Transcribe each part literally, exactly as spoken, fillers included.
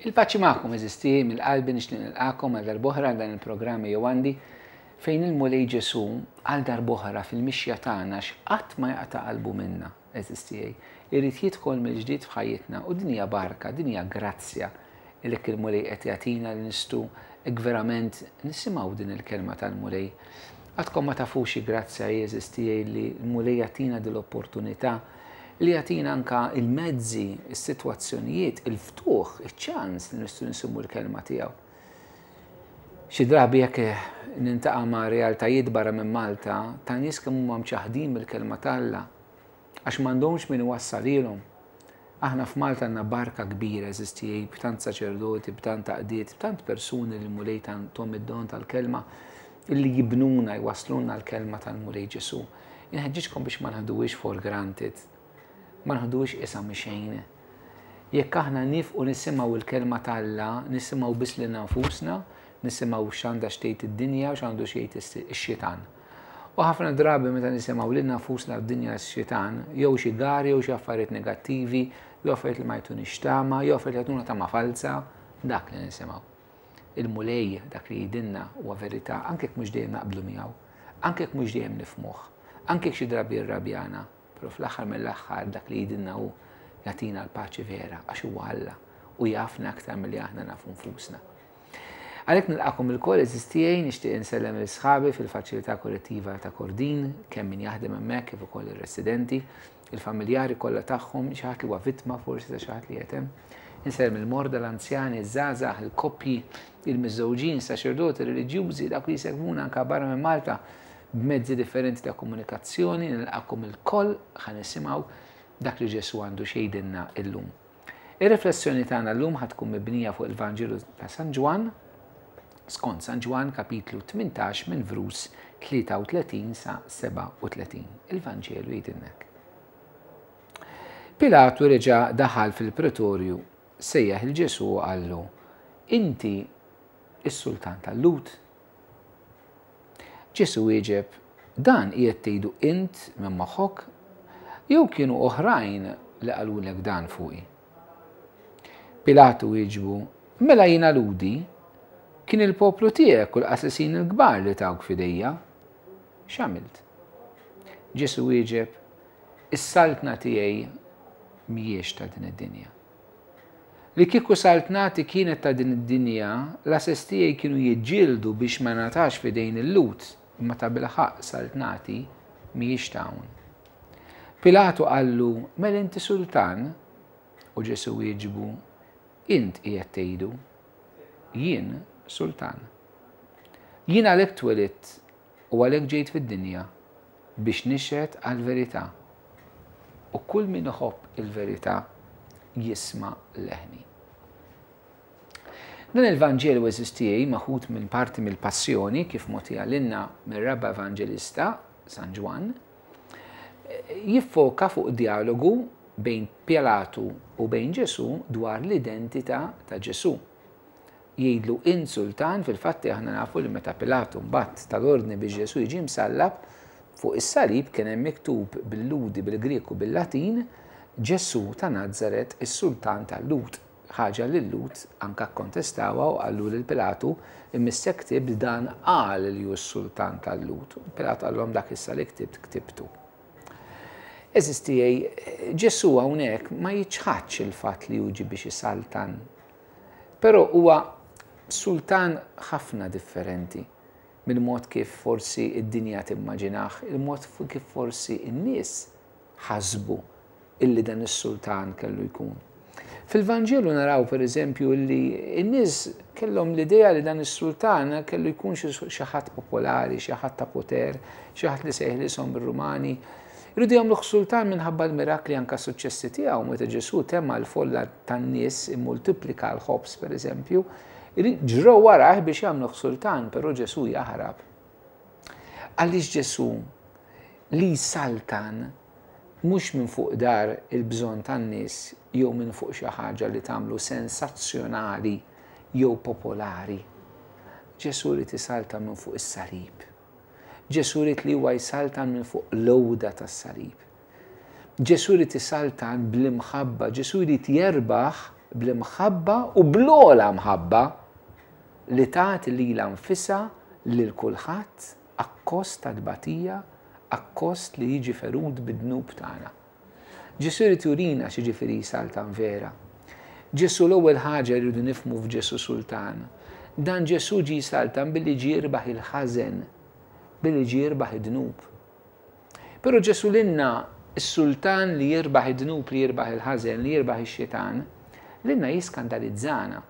Il-paċi magħkom għeżież tiegħi, mill-qalbi nixtieq nilqagħkom għal darb'oħra dan il-programm Ejjew Għandi, fejn il-Mulej Ġesu għal darb'oħra fil-mixja tagħna x'qatt ma jaqta' qalbu minna, għeżież tiegħi. Irid jidħol mill-ġdid f'ħajjitna u din hija barka, din hija grazzja li il-Mulej qed jagħtina li nistgħu hekk verament nisimgħu din il-kelma tal-Mulej. Għadkom ma tafux grazzja, għeżież tiegħi, li l-Mulej jagħtina din l-opportunità li jagħtina anka il-mezzi, is-sitwazzjonijiet, il-ftuħ, iċ-ċans li nistgħu nisimgħu l-kelma tiegħu. Xi drabi jekk niltaqa' ma' realtajiet barra minn Malta ta' nies kemm huma mċaħdin mill-kelma t'Alla għax m'għandhomx min iwassalilhom. Aħna f'Malta għandna barka kbira, għeżież tiegħi, b'tant saċerdoti, b'tant għaqdiet, b'tant persuni li l-Mulej tahom id-don tal-kelma illi jibnuna, jwasluna l-kelma tal-Mulej Ġesu. Inħeġġiġkom biex ma neħduhiex for granted, ma neħduhiex qisha xejn. Jekk aħna nieqfu nisimgħu il-kelma t'Alla, nisimgħu biss lilna nfusna, nisimgħu x'għandha x'tgħid id-dinja u x'għandu x'jgħid ix-xitan. U ħafna drabi meta nisimgħu lilna nfusna, d-dinja, x-xitan, jew xi gari, jew xi affarijiet negattivi, jew affarijiet li ma jtunix tama, jew affarijiet li jtuna tama falsa, dak li nisimgħu. Il-Mulej dak li jgħidilna huwa verità, anke jekk mhux dejjem naqblu miegħu, anke jekk mhux dejjem nifhmuh, anke jekk xi drabi jirrabjana, però fl-aħħar mill-aħħar dak li jgħidilna hu jagħtina l-paċi vera għax huwa Alla u jafna aktar milli aħna nafu nfusna. Għalhekk nilqagħkom ilkoll, għeżież tiegħi, nixtieq insellem lil sħabi fil-faċilità korrettiva ta' Kordin, kemm min jaħdem hemmhekk kif ukoll ir-residenti, il-familjari kollha tagħhom, xi ħadd li huwa vittma forsi ta' xi ħadd li qed hemm. Insellem il-morda, l-anzjani, iż-żgħażagħ, il-koppji, il-miżżewġin, saċerdoti, reliġjużi, dak li jsegwuna anka barra minn Malta b'mezzi differenti ta' komunikazzjoni, nilqagħkom ilkoll ħa nisimgħu dak li Ġesu għandu x'jgħidilna illum. Ir-riflessjoni tagħna llum ħa tkun mibnija fuq il-Vanġelu ta' San Ġwann, skont San Ġwann kapitlu tmintax minn vrus tlieta u tletin sa sebgħa u tletin. Il-Vanġelu jgħidilna hekk. Pilatu reġa' daħal fil-pretorju, sejjaħ lil Ġesu u qallu, "Inti is-sultan tal-Lhud?" Ġesu wieġeb, "Dan qiegħed tgħidu int minn moħħok jew kienu oħrajn li qalulek dan fuqi?" Pilatu wieġbu, "Mela jiena Lhudi? Kien il-poplu tiegħek u l-qassisin il-kbar li tawk f'idejja. X'għamilt?" Ġesu wieġeb, "Is-saltna tiegħi mhijiex ta' din id-dinja. Li kieku saltnati kienet ta' din id-dinja, l-għases tiegħi kienu jiġġieldu biex ma ningħatax f'idejn il-Lhud, imma ta' bilħaqq saltnati mhijiex ta' hawn." Pilatu qallu, "Mela inti sultan?" U Ġesu wieġbu, "Int qiegħed tgħidu, jien sultan. Jien għalhekk twelidt u għalhekk ġejt fid-dinja biex nixhed għal-verità. U kull min iħobb il-verità jisma' leħni." Dan il-Vanġelu, għeżież tiegħi, maħud minn parti mill-Passjoni kif mogħtija lilna mir-raba' evanġelista San Ġwann, jiffoka fuq dialogu bejn Pilatu u bejn Ġesu dwar l-identità ta' Ġesu. Jgħidlu, "Int sultan?" Fil-fatti aħna nafu li meta Pilatu mbagħad ta l-ordni biex Ġesu jiġi msallab, fuq is-salib kien hemm miktub bil-Lhudi, bil-Grek u bil-Latin, "Ġesu ta' Nazaret, is-sultan tal-Lhud". Ħaġa li l-Lhud anka kontestawha u qallu lil Pilatu, "Imissek ktibt dan qal li hu s-sultan tal-Lhud." Pilatu qallhom, "Dak issa li ktibt ktibtu." Għeżież tiegħi, Ġesu hawnhekk ma jiċħadx il-fatt li hu ġie biex isaltan. Però huwa sultan ħafna differenti mill-mod kif forsi id-dinja timmaġinah, il-mod kif forsi n-nies ħasbu illi dan is-sultan kellu jkun. Fil-Vanġelu naraw per eżempju li n-nies kellhom l-idea li dan is-sultan kellu jkun xi ħadd popolari, xi ħadd ta' poter, xi ħadd li se jeħlishom mir-Rumani. Iridu jagħmluh sultan minħabba l-mirakli, anka suċċessi tiegħu, meta Ġesu tema l-folla tan-nies, immultiplika l-ħobż per eżempju, ġrew warah biex jagħmluh sultan, però Ġesu jaħrab. Għaliex Ġesu li saltan mhux minn fuq dar il-bżonn tan-nies jew minn fuq xi ħaġa li tagħmlu sensazzjonali jew popolari. Ġesu li jsaltan minn fuq is-salib. Ġesu ried li huwa jsaltan minn fuq l-għuda tas-salib. Ġesu ried isaltan bl-imħabba, Ġesu jrid jerbaħ Bl-imħabba u bl-ogħla mħabba li tagħti lilha nfisha lil kulħadd akkost ta' tbatija, akkost li jiġi ferut bid-dnub tagħna. Ġesù jrid jurina x'jiġifieri saltan vera. Ġesù, l-ewwel ħaġa rridu nifhmu f'Ġesù Sultan. Dan Ġesù ġie saltan billi ġie jirbaħ il-ħażen, billi ġie jirbaħ id-dnub. Però Ġesù lilna, is-sultan li jirbaħ id-dnub, li jirbaħ il-ħażen, li jirbaħ ix-xitan, lilna jiskandalizzana.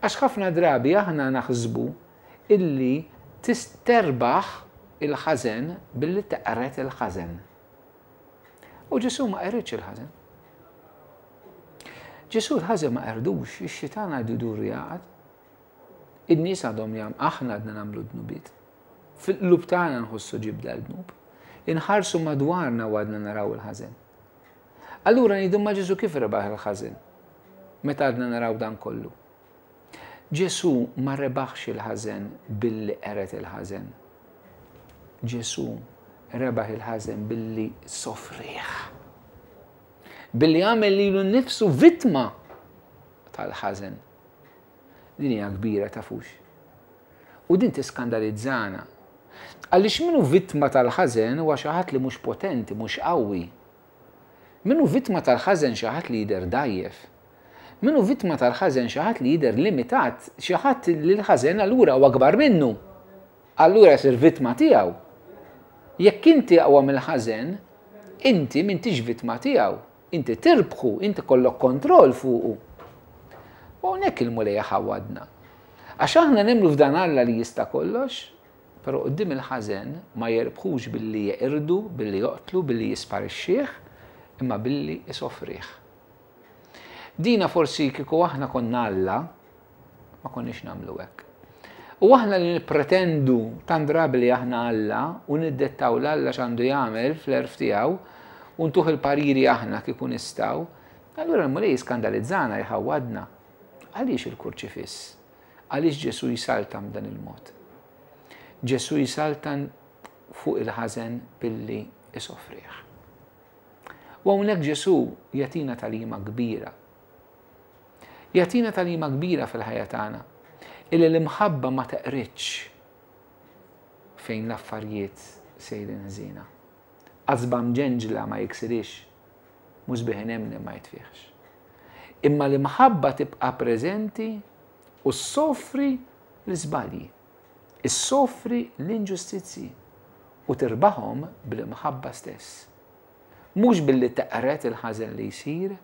Għax ħafna drabi aħna naħsbu illi terbaħ il-ħażen billi teqret il-ħażen. U Ġesù ma qeridx il-ħażen. Ġesù l-ħażen ma qerdux, ix-xitan għadu jdur jaqgħad. In-nies għadhom jam, aħna għadna nagħmlu dnubiet. Fil-qlub tagħna nħossu ġibda l-dnub. Inħarsu madwarna u għadna naraw il-ħażen. Allura ngħidu, ma Ġesù kif rebaħ il-ħażen meta għadna naraw dan kollu? Ġesù ma rebaħx il-ħażen billi qered il-ħażen. Ġesù rebaħ il-ħażen billi sofrieh. Billi għamel lilu nnifsu vittma tal-ħażen. Din hija kbira, tafux. U din tiskandalizzana. Għaliex min hu vittma tal-ħażen huwa xi ħadd li mhux potenti, mhux qawwi. Min hu vittma tal-ħażen xi ħadd li jidher dgħajjef. Min hu vittma tal-ħażen xi ħadd li jidher limitat, xi ħadd li l-ħażen allura huwa akbar minnu. Allura jsir vittma tiegħu. Jekk inti aqwa mill-ħażen, inti m'intix vittma tiegħu. Inti tirbħu, inti kollok kontroll fuqu. U hawnhekk il-Mulej ħawadna. Għax aħna nemmnu f'dan Alla li jista' kollox, però quddiem il-ħażen ma jerbħux billi jeqirdu, billi joqtlu, billi jisparixxih, imma billi isofrih. Dina forsi kieku aħna konna Alla, ma konniex nagħmlu hekk. U aħna li nippretendu tant drabi li aħna Alla u niddettaw l-Alla x'għandu jagħmel fl-għerf tiegħu u ntuh il-pariri aħna kieku nistgħu, allura l-Mulej jiskandalizzana, jħawadna. Għaliex il-kurċifiss? Għaliex Ġesù jsaltan b'dan il-mod? Ġesù jsaltan fuq il-ħażen billi isofrih. U hawnhekk Ġesù jagħtina tagħlima kbira. Jagħtina tagħlima kbira fil-ħajja tagħna. Illi l-imħabba ma teqridx fejn l-affarijiet sejrin ħżiena. Qasba mġenġla ma jiksirix, musbieħ inemnem ma jitfiħx. Imma l-imħabba tibqa' preżenti u ssofri l-iżbalji, issofri l-inġustizzji u tirbaħhom bl-imħabba stess. Mhux billi teqret il-ħażen li jsir,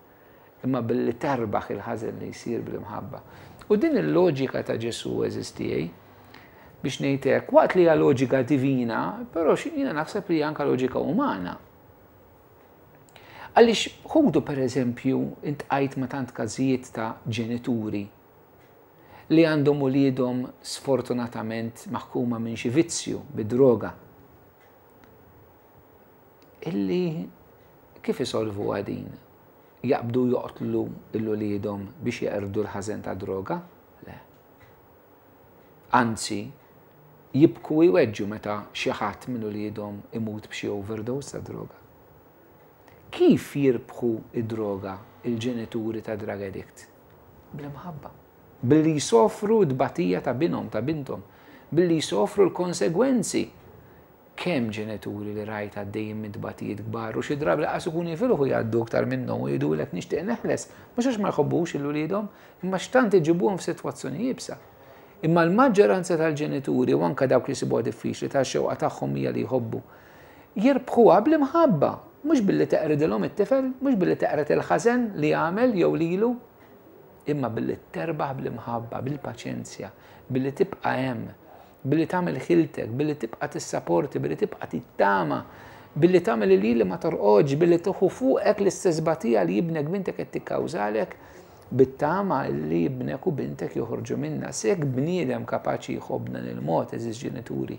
imma billi terbaħ il-ħażen li jsir bl-imħabba. U din il-loġika ta' Ġesù, għeżież tiegħi, biex ngħidlek, waqt li hija loġika divina, però jiena naħseb li anka loġika umana. Għaliex ħudu per eżempju, iltqajt ma' tant każijiet ta' ġenituri li għandhom uliedhom sfortunatament maħkuma minn xi vizzju bid-droga. Illi kif isolvu din? Jaqbdu joqtlu 'l uliedhom biex jeqirdu l-ħażen ta' droga? Le. Anzi, jibku jweġġu meta xi ħadd minn uliedhom imut b'xi overdose ta' droga. Kif jirbħu id-droga il-ġenituri ta' drug addict? Bl-imħabba. Billi jsofru d-batija ta' binhom, ta' bintom. Billi jsofru l-konsegwenzi. Kemm ġenituri li rajt għaddejjin minn tbatijiet kbar u xi drabi lanqas ikunu jifilħu jgħaddu aktar minnhom u jgħidulek, "Nixtieq neħles," mhux għax ma jħobbux 'il uliedhom, imma x'tant iġibuhom f'sitwazzjoni iebsa. Imma l-maġġoranza tal-ġenituri u anka dawk li jsibuha diffiċli ta' xewqa tagħhom hija li jħobbu, jirbħuha bl-imħabba, mhux billi teqridilhom it-tifel, mhux billi teqred il-ħażen li jagħmel jew lilu, imma billi terbaħ bl-imħabba, bil-paċenzja, billi tibqa' hemm, billi tagħmel ħiltek, billi tibqa' tissaporti, billi tibqa' tittama, billi tagħmel li li ma torqodx, billi tieħu fuqek l-istess batija li ibnek, bintek qed tikkawżalek, bit-tama li ibnek u bintek joħorġu minna. Jekk bniedem kapaċi jħobb b'dan il-mod, għeżież ġenituri,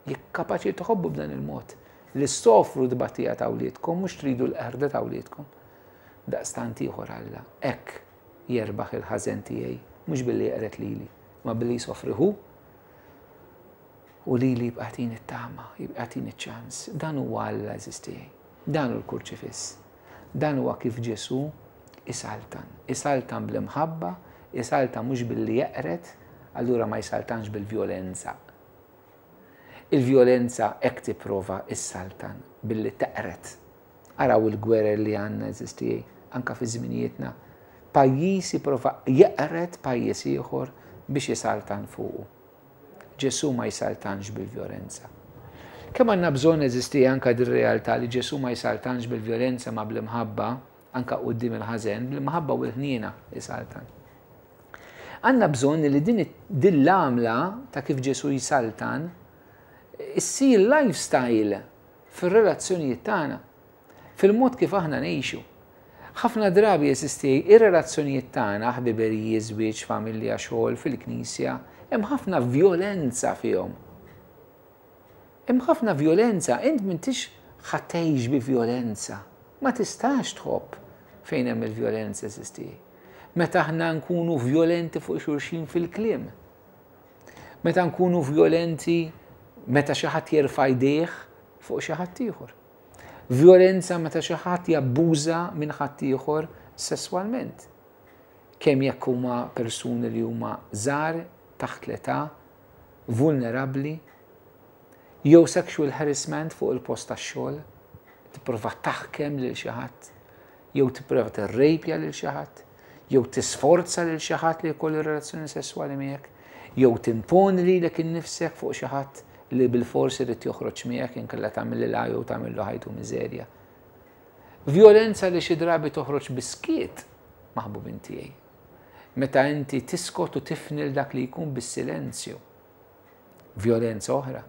jekk kapaċi tħobbu b'dan il-mod, li ssofru tbatija ta' wliedkom, mhux tridu l-qerda ta' wliedkom. Daqstant ieħor Alla, hekk jerbaħ il-ħażen tiegħi, mhux billi jeqred lili, ma billi jsofri hu u lili jibqa' jtini t-tama, jibqa' jtini ċ-ċans. Dan huwa Alla, għeżież tiegħi. Dan hu l-kurċifiss. Dan huwa kif Ġesù Isaltan. Isaltan bl-imħabba, isaltan mhux billi jeqred, allura ma jsaltanx bil-vjolenza. Il-vjolenza hekk tipprova issaltan billi teqred. Araw il-gwerer li għandna, għeżież tiegħi, anka fi żminijietna. Pajjiż jipprova jeqred pajjiż ieħor biex jisaltan fuqu. Ġesu ma jsaltanx bil-vjolenza. Kemm għandna bżonn, għeżież tiegħi, anka dir-realtà li Ġesu ma jsaltanx bil-vjolenza ma bl-imħabba, anka quddiem il-ħażen, bl-imħabba u l-ħniena jisaltan. Għandna bżonn li din din l-għamla ta' kif Ġesu jsaltan issir lifestyle fir-relazzjonijiet tagħna, fil-mod kif aħna ngħixu. Ħafna drabi, għeżież tiegħi, ir-relazzjonijiet tagħna, ħbiberiji, żwieġ, familja, xogħol, fil-knisja, hemm ħafna vjolenza fihom. Hemm ħafna vjolenza, int m'intix ħa tgħix bi vjolenza. Ma tistax tħobb fejn hemm il-vjolenza, għeżież tiegħi. Meta aħna nkunu vjolenti fuq xulxin fil-kliem. Meta nkunu vjolenti meta xi ħadd jerfa' jdejh fuq xi ħadd ieħor. Vjolenza meta xi ħadd jabbuża minn ħadd ieħor sesswalment. Kemm jekk huma persuni li huma żgħar, taħt l-età, vulnerabbli, jew sexual harassment fuq il-post tax-xogħol, tipprova taħkem lil xi ħadd, jew tipprova tirrejpja lil xi ħadd, jew tisforza lil xi ħadd li jkollu relazzjoni sesswali miegħek, jew timponi lilek innifsek fuq xi ħadd li bil-forsi irid joħroġ miegħek, inkella tagħmel jew tagħmillu ħajtu miżerja. Vjolenza li xi drabi toħroġ bis-skiet, maħbubin tiegħi. Meta inti tiskot u tifni 'l dak li jkun bis-silenzju. Vjolenza oħra.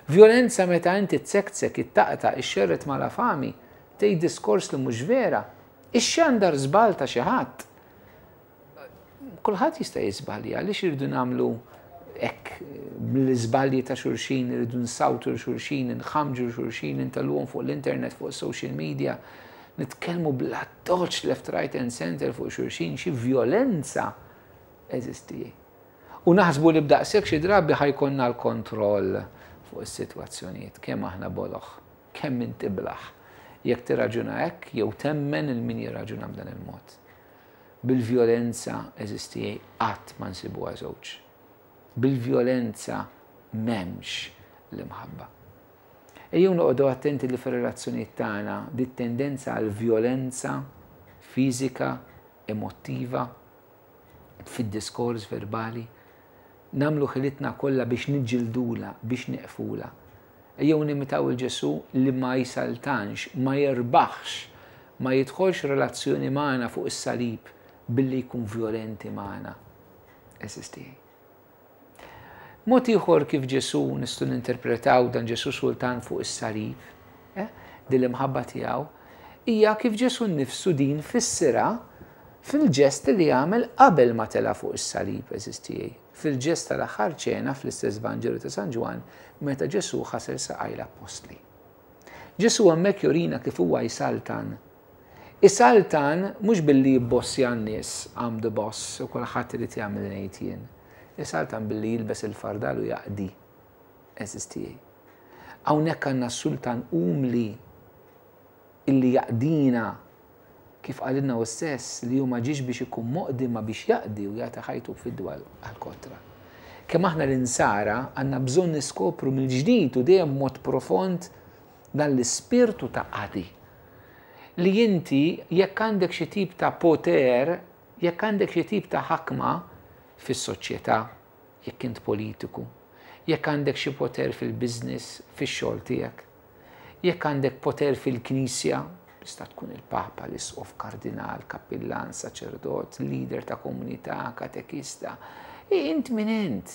Vjolenza meta inti tsektsek, ittaqta, ixxerred malafami, tgħid diskors li mhux vera, ixxandar żball ta' xi ħadd. Kulħadd jista' jiżbalja, għaliex irridu nagħmlu hekk bl-iżbalji ta' xulxin, irridu nsawtu xulxin, nħamġu xulxin, intellgħuhom fuq l-internet, fuq social media, nitkellmu bl-addoċċ left, right and center fuq xulxin, xi vjolenza, għeżież tiegħi. U naħsbu li b'daqshekk xi drabi ħa jkollna l-kontroll fuq is-sitwazzjonijiet, kemm aħna boloh, kemm int iblah, jekk tirraġuna hekk jew temmen 'il min jirraġuna b'dan il-mod. Bil-vjolenza, għeżież tiegħi, qatt ma nsibuha żewġ. Bil-vjolenza m'hemmx l-imħabba. Ejjew noqogħdu attenti li fir-relazzjonijiet tagħna dit tendenza għal vjolenza fiżika, emotiva, fid-diskors verbali, nagħmlu ħilitna kollha biex niġġildula, biex neqfula. Ejjew nimitaw 'il Ġesu li ma jsaltanx, ma jirbaħx, ma jidħolx relazzjoni magħna fuq is-salib billi jkun violenti magħna. Għeżież tiegħi. Mod ieħor kif Ġesu nistgħu ninterpretaw dan Ġesu sultan fuq is-salib, eh, din l-imħabba tiegħu, hija kif Ġesu nnifsu din fissirha fil-ġest li għamel qabel ma tela fuq is-salib, għeżież tiegħi. Fil-ġest tal-aħħar ċena fl-istess Vanġelu ta' San Ġwann, meta Ġesu ħasel saqaj l-appostli. Ġesu hemmhekk jurina kif huwa jsaltan. Isaltan mhux billi jibbossja n-nies, "I'm the boss" u kulħadd irid jagħmel ngħid jien. Isaltan billi jilbes il-fardal u jaqdi, għeżież tiegħi. Hawnhekk għandna sultan umli illi jaqdina, kif qalilna hu stess li hu ma ġiex biex ikun moqdi ma biex jaqdi u jagħti ħajtu fidwa għal-kotra. Kemm aħna l-insara għandna bżonn niskopru mill-ġdid u dejjem mod profond dan l-ispirtu ta' qadi. Li inti jekk għandek xi tip ta' poter, jekk għandek xi tip ta' ħakma fis-soċjetà, jekk int politiku, jekk għandek xi poter fil-business, fix-xogħol tiegħek, jekk għandek poter fil-knisja, tista' tkun il-papa, l-isqof, kardinal, kappillan, saċerdot, leader ta' komunità, katekista, int min int.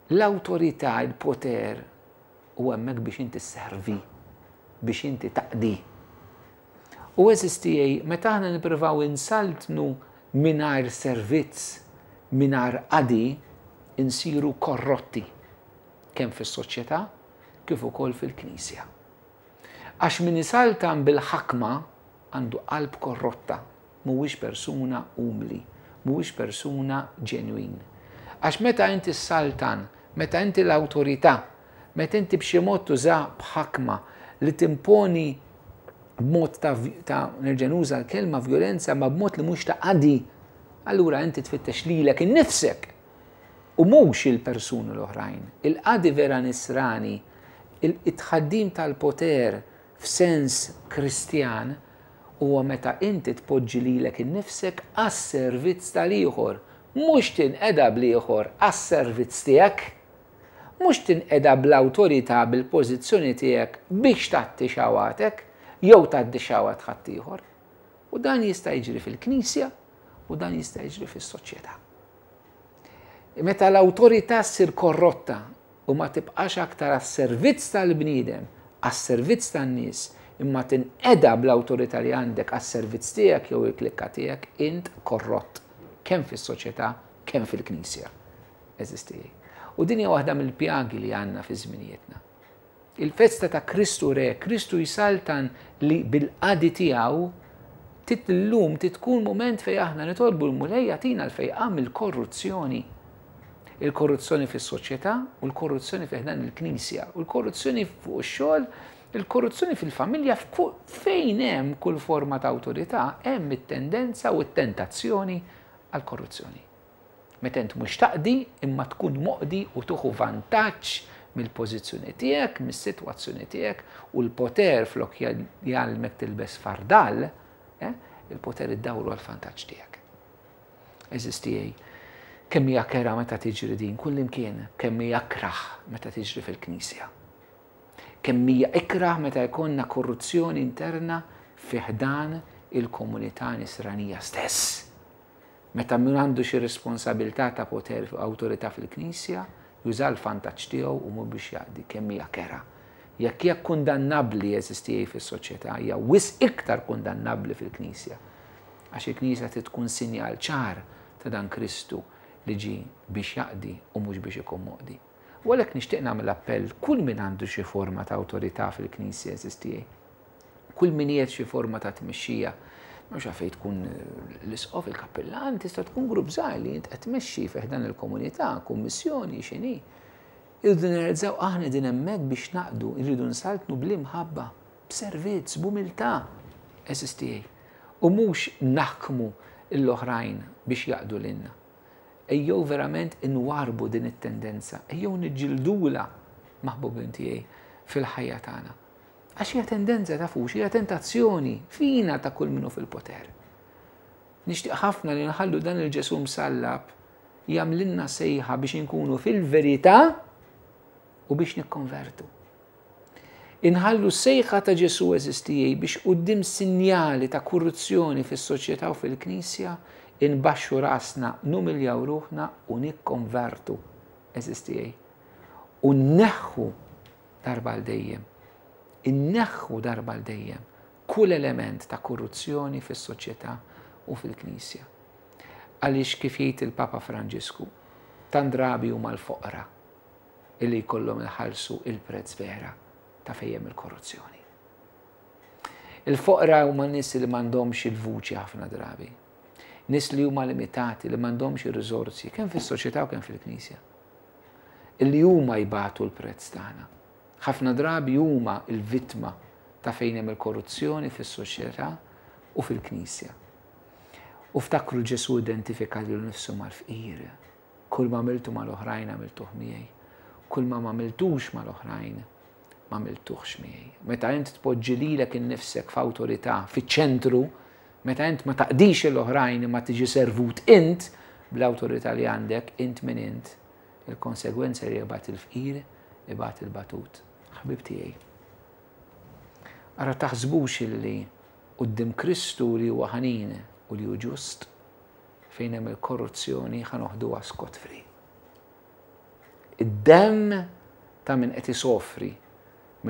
L-awtorità, il-poter, u hemmhekk biex inti servi, biex inti taqdi. U, għeżież tiegħi, meta aħna nippruvaw insaltnu mingħajr servizz, mingħajr qadi, insiru korrotti, kemm fis-soċjetà kif ukoll fil-Knisja. Għax min isaltan bil-ħakma għandu qalb korrotta, mhuwiex persuna umli, mhuwiex persuna ġenwin. Għax meta inti saltan, meta inti l-awtorità, meta inti b'xi mod tuża b'ħakma li timponi B'mod ta', ta nerġa' nuża l-kelma vjolenza, ma b'mod li mhux ta' qadi, allura inti tfittex lilek innifsek u mhux il-persuni l-oħrajn. Il-qadi vera nisrani, it-tħaddim tal-poter f'sens Kristjan huwa meta inti tpoġġi lilek innifsek għas-servizz tal-ieħor, mhux tinqeda bl-ieħor għas-servizz tiegħek, mhux tinqeda bl-awtorità, bil-pożizzjoni tiegħek biex tgħatti xawatek jew tgħaddi xawat ħaddieħor. U dan jista' jiġri fil-Knisja u dan jista' jiġri fis-soċjetà. Meta l-awtorità ssir korrotta u ma tibqax aktar għas-servizz tal-bniedem, għas-servizz tan-nies, imma tinqeda bl-awtorità li għandek għas-servizz tiegħek jew il-klikka tiegħek, int korrott kemm fis-soċjetà, kemm fil-Knisja. Għeżież tiegħi. U din hija waħda mill-pjagi li għandna fi żminijietna. Il-festa ta' Kristu Re, Kristu jsaltan li bil-qadi tiegħu, tit-lum titkun moment fej aħna nitolbu l-Mulej jagħtina l-fejqan mill-korruzzjoni. Il-korruzzjoni fis-soċjetà u l-korruzzjoni fi ħdan il-Knisja, u l-korruzzjoni fuq ix-xogħol, il-korruzzjoni fil-familja, fejn hemm kull forma ta' awtorità, hemm it-tendenza u t-tentazzjoni għall-korruzzjoni. Meta int mhux taqdi imma tkun moqdi u tuħu vantaġġ mill-pożizzjoni tiegħek, mis-sitwazzjoni tiegħek, u l-poter flok jgħallmek tilbes fardal, eh, il-poter iddawru għal-vantaġġ tiegħek. Għeżież tiegħi, kemm hija kerha meta tiġri din kullimkien, kemm hija ikrah meta tiġri fil-Knisja. Kemm hija ikrah meta jkollna korruzzjoni interna fi ħdan il-komunità nisranija stess. Meta min għandu xi responsabilità ta' poter u awtorità fil-Knisja, juża l-vantaġġ tiegħu u mhux biex jaqdi, kemm hija kerha. Jekk hija kundannabbli, għeżież tiegħi, fis-soċjetà, hija wisq iktar kundannabbli fil-Knisja. Għax il-Knisja trid tkun sinjal ċar ta' dan Kristu li ġi biex jaqdi u mhux biex ikun moqdi. U għalhekk nixtieq nagħmel appell kull min għandu xi forma ta' awtorità fil-Knisja, għeżież tiegħi. Kull min qiegħed xi forma ta' tmexxija, mhux għalfejn tkun l-isqof, il-kappillan, tista' tkun grupp żgħir li int qed tmexxi fi ħdan il-komunità, kummissjoni, x'inhi. Irridu nirrealizzaw aħna din hemmhekk biex naqdu, irridu nsaltnu bl-imħabba, b'servizz, b'umiltà, għeżież tiegħi. U mhux naħkmu l-oħrajn biex jaqdu lilna. Ejjew verament inwarbu din it-tendenza, ejjew niġġildula, maħbubin tiegħi, fil-ħajja tagħna. Għax hija tendenza, tafux, hija tentazzjoni fina ta' kull minnu fil-poter. Nixtieq ħafna li nħallu dan il-Ġesù msallab jagħmlilna sejħa biex inkunu fil-verità u biex nikkonvertu. Inħallu sejħa ta' Ġesù, għeżież tiegħi, biex quddiem sinjali ta' korruzzjoni fis-soċjetà u fil-Knisja inbaxxu rasna, numiljaw ruħna u nikkonvertu, għeżież tiegħi. U nneħħu darba għal dejjem. Inneħħu darba għal dejjem kull element ta' korruzzjoni fis-soċjetà u fil-Knisja. Għaliex kif jgħid il-Papa Franġisku, tant drabi huma l-foqra illi jkollhom iħallsu il-prezz vera ta' fejjem il-korruzzjoni. Il-foqra huma nies li m'għandhomx il-vuċi ħafna drabi. Nies li huma limitati, li m'għandhomx ir-riżorsi, kemm fis-soċjetà u kemm fil-Knisja. Illi huma jbatu l-prezz tagħna. Ħafna drabi huma l-vittma ta' fejn hemm il-korruzzjoni fis-soċjetà u fil-Knisja. U ftakru Ġesù identifika lilu nnifsu mal-fqir. Kull ma għamiltu mal-oħrajn għamiltuh miegħi. Kull ma m'għamiltux mal-oħrajn m'għamiltuhx miegħi. Meta int tpoġġi lilek innifsek f'awtorità fiċ-ċentru, meta int ma taqdix l-oħrajn imma tiġi servut int bl-awtorità li għandek, int min int, il-konsegwenza li jibgħat il-fqir, jibgħat il-batut. Ħbib tiegħi. Ara taħsbux illi quddiem Kristu li huwa ħanin u li hu ġust, fejn hemm il-korruzzjoni ħa noħduha scot free. Id-demm ta' min qed isofri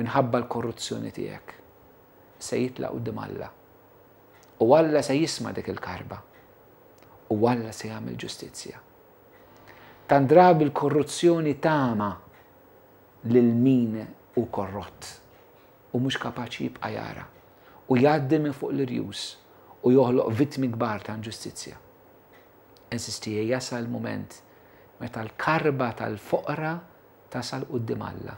minħabba l-korruzzjoni tiegħek se jitlaq quddiem Alla. U Alla se jisma' dik il-karba. U Alla se jagħmel ġustizzja. Tant drabi l-korruzzjoni tama lil min hu korrott u mhux kapaċi jibqa' jara u jgħaddi minn fuq l-irjus u joħloq vittmi kbar ta' inġustizzja. Għeżież tiegħi, jasal moment meta l-karba tal-foqra tasal quddiem Alla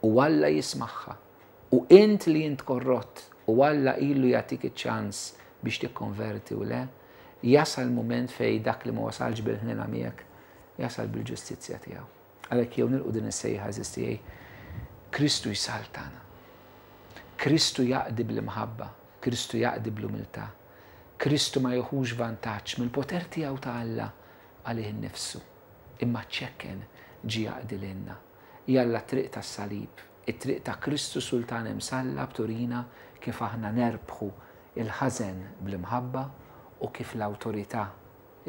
u Alla jismagħha u int li int korrott U Alla ilu jagħtik iċ-ċans biex tikkonverti u le, jasal mument fejn dak li ma wasalx bil-ħniena miegħek, jasal bil-ġustizzja tiegħu. Għalhekk jew nilqgħu din is-sejħa, għeżież tiegħi, Kristu jsaltan. Kristu jaqdi bl-imħabba, Kristu jaqdi bl-umiltà. Kristu ma jieħux vantaġġ mill-poter tiegħu ta' Alla għalih innifsu, imma ċekken ġie jaqdi lilna. Jalla triq tas-salib, it-triq ta' Kristu Sultan imsallab turina kif aħna nerbħu il-ħażen bl-imħabba u kif l-awtorità,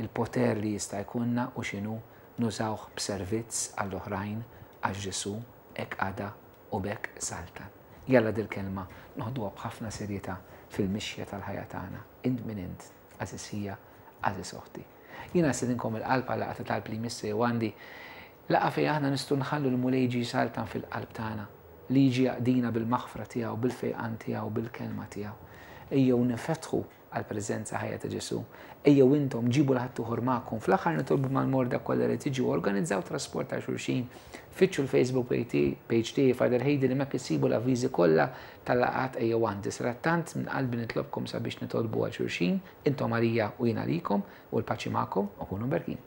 il-poter li jista' jkollna u x'inhu nużawh b'servizz għall-oħrajn għax Ġesù hekk qada u b'hekk saltan. Jalla dil-kelma noħduha b'ħafna serjetà fil-mixja tal-ħajja tagħna. Int min int, għażiż ħija, għażiż oħti. Jiena nistedinkom il-qalb għal laqgħa ta' talb li jmiss jew għandi laqgħa fejn aħna nistgħu nħallu l-Mulej jiġi jsaltan fil-qalb tagħna, li jiġi jaqdina bil-maħfra tiegħu, bil-fejqan tiegħu, bil-kelma tiegħu. Ejjew nifetħu għall-preżenza ħajja ta' Ġesù. Ejjew intom ġibu 'l ħaddieħor magħkom. Fl-aħħar nitolbu mal-morda kollha li tiġu, organizzaw trasport ta' xulxin. Fittxu l-Facebook page tiegħi Father Heidi li hemmhekk issibu l-avviżi kollha tal-laqgħat ejjew għandi. Sadattant minn qalbi nitlobkom sabiex nitolbu għal xulxin, intom għalija u jiena għalikom u l-paċi magħkom u kunu mberkin.